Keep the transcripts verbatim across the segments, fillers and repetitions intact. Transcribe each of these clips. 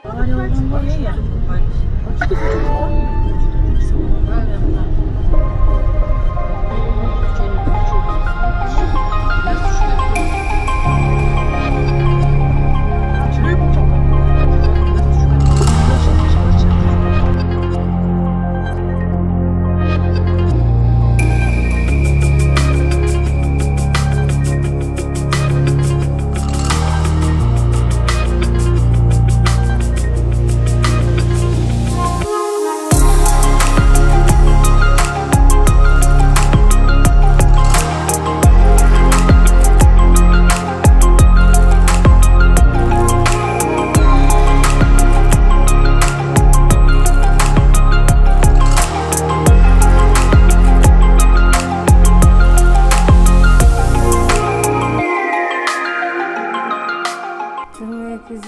Авария болгонго эле.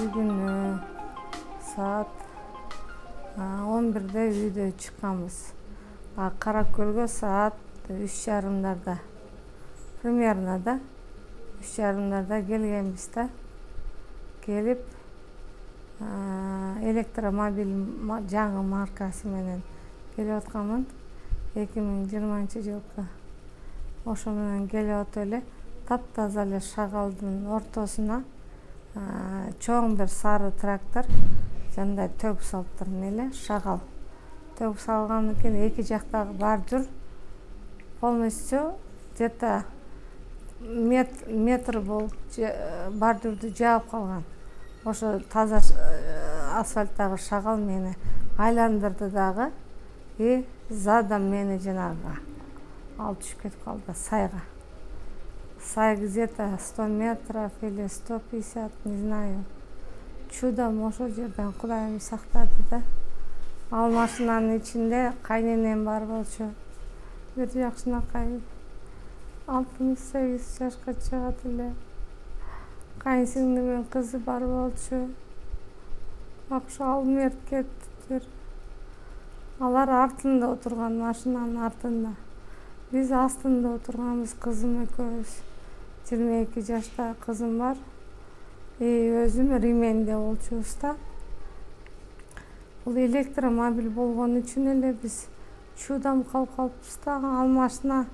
Күнү саат он бирде үйдөн чыкканбыз. Каракөлгө саат үч жарымдарда. Примерно да үч жарымдарда келгенбиз да. Келип электромобиль жаңы маркасы менен келип атканмын. эки миң жыйырманчы жылкы. Ошо менен келип атып эле таптаза эле шагалдын ортосуна чоң бир сары трактор жандай төгүп салыптыр эле, шагал. Төгүп салган экен, эки жактагы бордюр полностью где-то метр болуп бордюрду жаап калган. Ошо таза асфальттагы шагал мени айландырды дагы, и задом мени жанагы алып түшүп кетип калды сайга. Сай где-то сто метров или сто пятьдесят, не знаю. Чудом ошол жерден Кудайым сактады да. Ал машинанын ичинде кайненем бар болчу. Бир жакшынакай алтымыш сегиз жашка чыгат эле. Кайынсиңдимдин кызы бар болчу. Ошо ал мерт кеттиптир. Алар артында отурган, машинанын артында. Биз астында отурганбыз, кызым экөөбүз. жыйырма эки жашта кызым бар. И өзүм Рименде болчубуз да. Бул электромобиль болгон үчүн эле биз чудам калып калыппыз да. Ал машина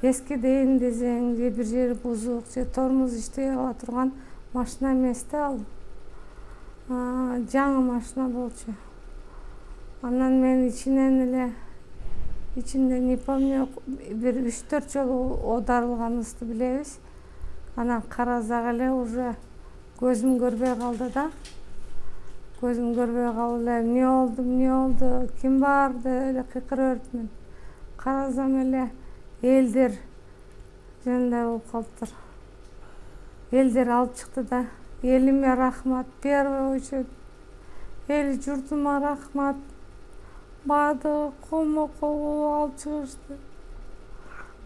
эски дейин десең, же бир жери бузук, же тормоз иштей ала турган машина эмес да ал. Жаңы машина болчу. Анан мен ичинен эле ичинде не помню, бир үч төрт жолу оодарылганыбызды билебиз. Анан карасак эле уже көзүм көрбөй калды да. Көзүм көрбөй калып эле эмне болду, эмне болду, ким бар деп эле кыйкырып бериптмин. Карасам эле элдер жандай болуп калыптыр. Элдер алып чыкты да. Элиме рахмат, первый очередь. Эл журтума рахмат. Баардыгы колмо-кол алып чыгышты.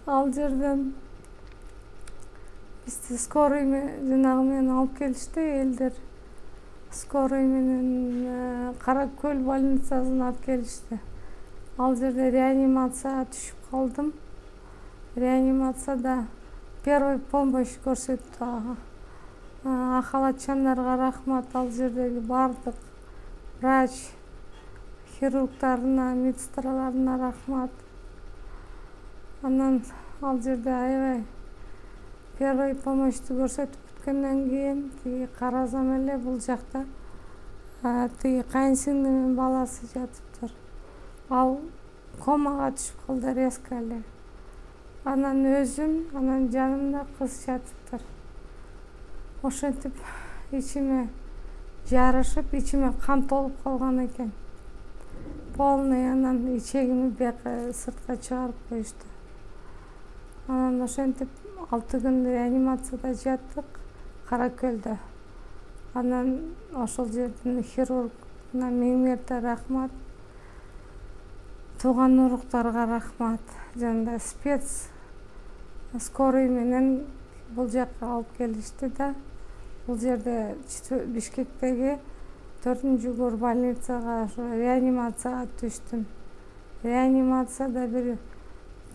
Ал жерден бизди скорый жанагы менен алып келишти элдер. Скорый менен Каракөл больницасына алып келишти. Ал жерде реанимацияга түшүп калдым. Реанимацияда первый помощь көрсөттү. Ахалатчандарга рахмат, ал жердеги бардык врач, хирургдарына, медсестраларына рахмат. Анан ал жерде аябай первый помощьту көрсөтүп бүткөндөн кийин тиги карасам эле бул жакта тиги кайынсиңдимдин баласы жатыптыр. Ал комага түшүп калды резко эле. Анан өзүм, анан жанымда кыз жатыптыр. Ошентип ичиме жарышып, ичиме кан толуп калган экен. Полный анан ичегими бияка сыртка чыгарып коюшту. Анан ошентип алты күн реанимацияда жаттык Каракөлдө. Анан ошол жердин хирургуна миң мерте рахмат. Тууган уруктарга рахмат. Жанда спец скорый менен бул жакка алып келишти да. Бул жерде Бишкектеги төртүнчү гор больницага, реанимацияга түштүм. Реанимацияда бир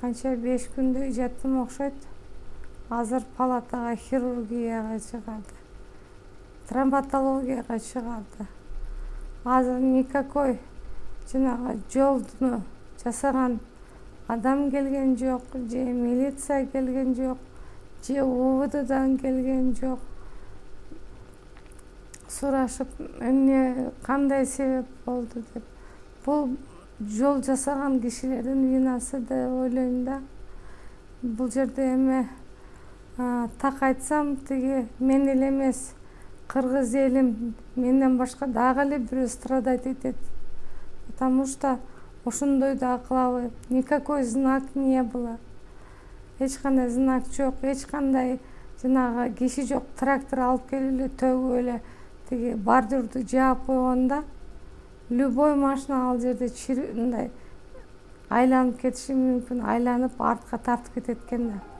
канча беш күндөй жаттым окшойт. Азыр палатага хирургияга чыгарды. Травматологияга чыгарды. азыр никакой жанагы жолду жасаган адам келген жок, же милиция келген жок, же У В Ддан келген жок. Сурашып, эмне кандай себеп болду деп. Бул жол жасаган кишилердин винасы деп ойлойм да. Бул жерде эме так айтсам, тиги мен эле эмес, кыргыз элим менден башка дагы эле бирөө страдать этет. Потому что ошондой да кылабы, никакой знак не было. Эч кандай знак жок, эч кандай жанагы киши жок. Трактор алып келип эле төгүп эле тиги бордюрду жаап койгондо любой машина ал жерде мындай айланып кетиши мүмкүн, айланып артка тартып кетет экен да.